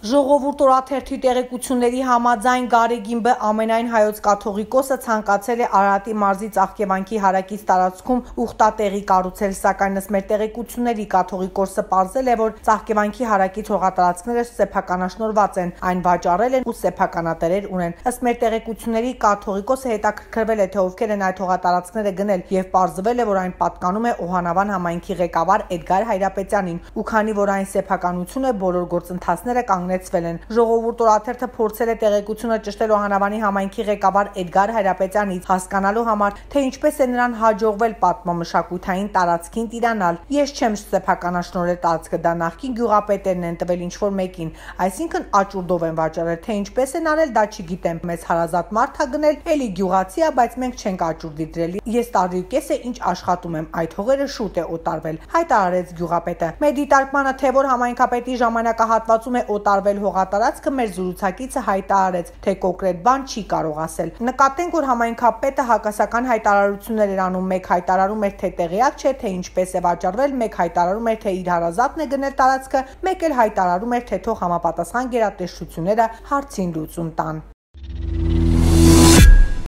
Ժողովուրդ օրաթերթի տեղեկությունների համաձայն Գարեգիմբը ամենայն հայոց կաթողիկոսը ցանկացել է Արարատի մարզի Ծաղկևանքի հարակից տարածքում ուխտատեղի կառուցել, սակայն ըստ մեր տեղեկությունների կաթողիկոսը պարզել է, որ Ծաղկևանքի հարակից հողատարածքները սեփականաշնորհված են, այն վաճառել են ու սեփականատերեր ունեն։ Ըստ մեր տեղեկությունների կաթողիկոսը հետաքրքրվել է, թե ովքեր են այդ հողատարածքները գնել եւ պարզվել է, որ այն պատկանում է Օհանավան համայնքի ղեկավար Էդգար Հայրապետյանին, ու քանի որ այն սեփականություն է, բոլոր գործընթացները կանգնեցվել են։ Ժողովուրդ օրաթերթը փորձել է տեղեկությունը ճշտել Օհանավանի համայնքի ղեկավար Էդգար Հայրապետյանից, հասկանալու համար, թե ինչպես է նրան հաջողվել պատմամշակութային տարածքին տիրանալ։ Ես չեմ սեփականաշնորհել տարածքը, դա նախկին գյուղապետերն են տվել ինչ-որ մեկին, այսինքն աճուրդով են վաճառել, թե ինչպես են արել, դա չգիտեմ։ Մեզ հարազատ մարդ ա գնել, էլի գյուղացի ա, բայց մենք չենք աճուրդի դրել։ Ես տարի ու կես է ինչ աշխատում եմ, այդ հողերը շուտ է օտարվել, հայտարարեց գյուղապետը։ Մեր դիտարկմանը, թե որ համայնքապետի ժամանակահատվածում է օտարվել հողատարածքը, մեր զրուցակիցը հայտարարեց, թե կոնկրետ բան չի կարող ասել։ Նկատենք, որ համայնքապետը հակասական հայտարարություններ էր անում, մեկ հայտարարում էր, թե տեղյակ չէ, թե ինչպես է վաճառվել, մեկ հայտարարում էր, թե իր հարազատն է գնել տարածքը, մեկ էլ հայտարարում էր, թե թող համապատասխան գերատեսչությունները հարցին լուծում տան։